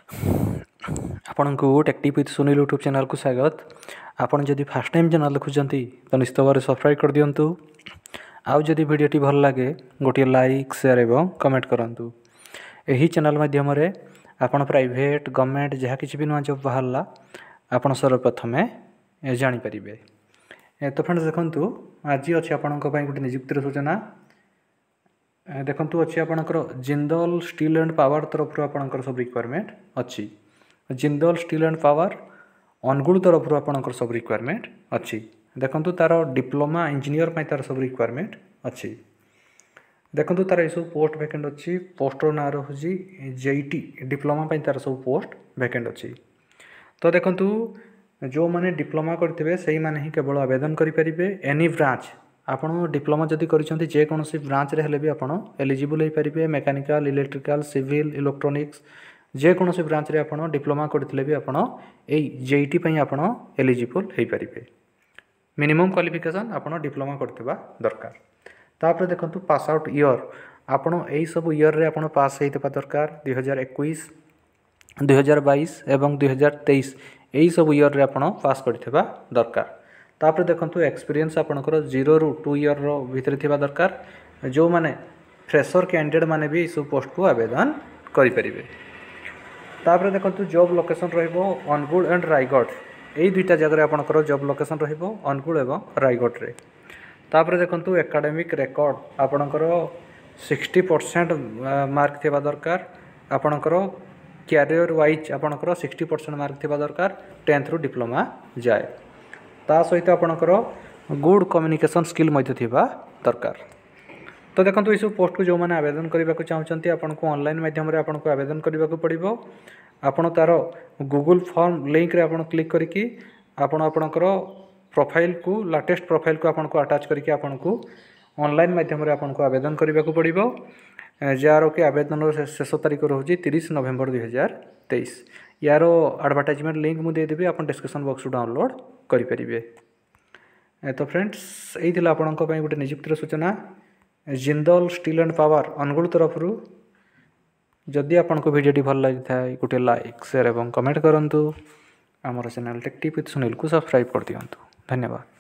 ଆପଣଙ୍କୁ ଟେକ୍ଟିଭ୍ with Sunil YouTube ଚ୍ୟାନେଲ୍କୁ ସ୍ୱାଗତ। ଆପଣ ଯଦି ଫାର୍ଷ୍ଟ ଟାଇମ୍ ଚ୍ୟାନେଲ୍ ଦେଖୁଛନ୍ତି, ତ ନିଶ୍ଚିତ ଭାବରେ ସବସ୍କ୍ରାଇବ୍ କରିଦିଅନ୍ତୁ। ଆଉ ଯଦି ଭିଡ଼ିଓଟି ଭଲ ଲାଗେ, ଗୋଟିଏ ଲାଇକ୍, ସେୟାର ଏବଂ କମେଣ୍ଟ କରନ୍ତୁ। ଏହି ଚ୍ୟାନେଲ୍ ମାଧ୍ୟମରେ ଆପଣ ପ୍ରାଇଭେଟ୍, ଗଭର୍ଣ୍ଣମେଣ୍ଟ ଯାହା କିଛି ବି ନୂଆ ଜବ୍ ବାହାରିଲା, ଆପଣ ସର୍ବପ୍ରଥମେ ଜାଣିପାରିବେ। ତ ଫ୍ରେଣ୍ଡସ୍, ଦେଖନ୍ତୁ, ଆଜି ଅଛି ଆପଣଙ୍କ ପାଇଁ ଗୋଟେ ନିଯୁକ୍ତିର ସୂଚନା। ଦେଖନ୍ତୁ, ଅଛି ଆପଣଙ୍କର ଜିନ୍ଦଲ ଷ୍ଟିଲ୍ ଆଣ୍ଡ ପାୱାର ତରଫରୁ ଆପଣଙ୍କର ସବୁ ରିକ୍ୱାରମେଣ୍ଟ ଅଛି। Jindal steel and power Angul ତରଫରୁ ଆପଣଙ୍କର ସବୁ ରିକ୍ୱାରମେଣ୍ଟ ଅଛି। ଦେଖନ୍ତୁ, ତା'ର ଡିପ୍ଲୋମା ଇଞ୍ଜିନିୟର ପାଇଁ ତା'ର ସବୁ ରିକ୍ୱାରମେଣ୍ଟ ଅଛି। ଦେଖନ୍ତୁ, ତା'ର ଏସବୁ ପୋଷ୍ଟ ଭ୍ୟାକେଣ୍ଟ ଅଛି। ପୋଷ୍ଟର ନାଁ ରହୁଛି ଜେଇଟି ଡିପ୍ଲୋମା ପାଇଁ ତା'ର ସବୁ ପୋଷ୍ଟ ଭ୍ୟାକେଣ୍ଟ ଅଛି। ତ ଦେଖନ୍ତୁ, ଯେଉଁମାନେ ଡିପ୍ଲୋମା କରିଥିବେ, ସେଇମାନେ ହିଁ କେବଳ ଆବେଦନ କରିପାରିବେ। ଏନି ବ୍ରାଞ୍ଚ, ଆପଣ ଡିପ୍ଲୋମା ଯଦି କରିଛନ୍ତି, ଯେକୌଣସି ବ୍ରାଞ୍ଚରେ ହେଲେ ବି ଆପଣ ଏଲିଜିବୁଲ୍ ହେଇପାରିବେ। ମେକାନିକାଲ, ଇଲେକ୍ଟ୍ରିକାଲ, ସିଭିଲ୍, ଇଲେକ୍ଟ୍ରୋନିକ୍ସ, ଯେକୌଣସି ବ୍ରାଞ୍ଚରେ ଆପଣ ଡିପ୍ଲୋମା କରିଥିଲେ ବି ଆପଣ ଏଇ ଜେଇଟି ପାଇଁ ଆପଣ ଏଲିଜିବୁଲ୍ ହେଇପାରିବେ। ମିନିମମ୍ କ୍ୱାଲିଫିକେସନ୍ ଆପଣ ଡିପ୍ଲୋମା କରିଥିବା ଦରକାର। ତାପରେ ଦେଖନ୍ତୁ, ପାସ୍ ଆଉଟ୍ ଇୟର୍, ଆପଣ ଏଇସବୁ ଇୟର୍ରେ ଆପଣ ପାସ୍ ହେଇଥିବା ଦରକାର। 2021, 2022 ଏବଂ 2023, ଏଇସବୁ ଇୟର୍ରେ ଆପଣ ପାସ୍ କରିଥିବା ଦରକାର। ତାପରେ ଦେଖନ୍ତୁ, ଏକ୍ସପିରିଏନ୍ସ ଆପଣଙ୍କର 0ରୁ 2 ଇୟର୍ର ଭିତରେ ଥିବା ଦରକାର। ଯେଉଁମାନେ ଫ୍ରେସର୍ କ୍ୟାଣ୍ଡିଡେଟ୍ ମାନେ ବି ଏଇସବୁ ପୋଷ୍ଟକୁ ଆବେଦନ କରିପାରିବେ। ତାପରେ ଦେଖନ୍ତୁ, ଜବ୍ ଲୋକେସନ୍ ରହିବ ଅନୁଗୁଳ ଆଣ୍ଡ ରାୟଗଡ଼। ଏଇ ଦୁଇଟା ଜାଗାରେ ଆପଣଙ୍କର ଜବ୍ ଲୋକେସନ୍ ରହିବ, ଅନୁଗୁଳ ଏବଂ ରାୟଗଡ଼ରେ। ତାପରେ ଦେଖନ୍ତୁ, ଏକାଡେମିକ୍ ରେକର୍ଡ଼ ଆପଣଙ୍କର 60% ମାର୍କ ଥିବା ଦରକାର। ଆପଣଙ୍କର କ୍ୟାରିୟର ୱାଇଜ୍ ଆପଣଙ୍କର 60% ମାର୍କ ଥିବା ଦରକାର 10ଥରୁ ଡିପ୍ଲୋମା ଯାଏ। ତା ସହିତ ଆପଣଙ୍କର ଗୁଡ୍ କମ୍ୟୁନିକେସନ୍ ସ୍କିଲ୍ ମଧ୍ୟ ଥିବା ଦରକାର। ତ ଦେଖନ୍ତୁ, ଏସବୁ ପୋଷ୍ଟକୁ ଯେଉଁମାନେ ଆବେଦନ କରିବାକୁ ଚାହୁଁଛନ୍ତି, ଆପଣଙ୍କୁ ଅନଲାଇନ୍ ମାଧ୍ୟମରେ ଆପଣଙ୍କୁ ଆବେଦନ କରିବାକୁ ପଡ଼ିବ। ଆପଣ ତା'ର ଗୁଗୁଲ୍ ଫର୍ମ ଲିଙ୍କରେ ଆପଣ କ୍ଲିକ୍ କରିକି ଆପଣ ଆପଣଙ୍କର ପ୍ରୋଫାଇଲ୍କୁ, ଲାଟେଷ୍ଟ ପ୍ରୋଫାଇଲ୍କୁ ଆପଣଙ୍କୁ ଆଟାଚ୍ କରିକି ଆପଣଙ୍କୁ ଅନଲାଇନ୍ ମାଧ୍ୟମରେ ଆପଣଙ୍କୁ ଆବେଦନ କରିବାକୁ ପଡ଼ିବ, ଯାହାର କି ଆବେଦନର ଶେଷ ତାରିଖ ରହୁଛି 30 ନଭେମ୍ବର 2023। ୟାର ଆଡ଼ଭର୍ଟାଇଜମେଣ୍ଟ ଲିଙ୍କ୍ ମୁଁ ଦେଇଦେବି, ଆପଣ ଡିସ୍କ୍ରିପସନ୍ ବକ୍ସରୁ ଡାଉନଲୋଡ଼୍ କରିପାରିବେ। ତ ଫ୍ରେଣ୍ଡସ୍, ଏଇ ଥିଲା ଆପଣଙ୍କ ପାଇଁ ଗୋଟେ ନିଯୁକ୍ତିର ସୂଚନା Jindal steel and power Angul ତରଫରୁ। ଯଦି ଆପଣଙ୍କୁ ଭିଡ଼ିଓଟି ଭଲ ଲାଗିଥାଏ, ଗୋଟିଏ ଲାଇକ୍, ସେୟାର ଏବଂ କମେଣ୍ଟ କରନ୍ତୁ। ଆମର ଚ୍ୟାନେଲ୍ ଟେକ୍ଟିଭ୍ ୱିଥ୍ ସୁନୀଲକୁ ସବସ୍କ୍ରାଇବ୍ କରିଦିଅନ୍ତୁ। ଧନ୍ୟବାଦ।